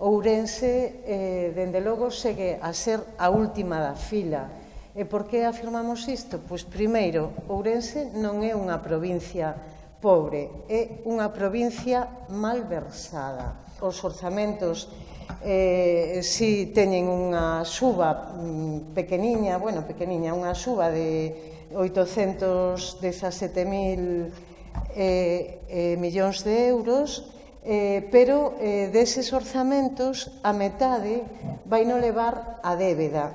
Ourense, dende logo, segue a ser a última da fila. E por que afirmamos isto? Pois, primeiro, Ourense non é unha provincia pobre, é unha provincia malversada. Os orzamentos si teñen unha suba pequeniña, unha suba de 817.000 millóns de euros, pero deses orzamentos a metade vai no levar a débeda.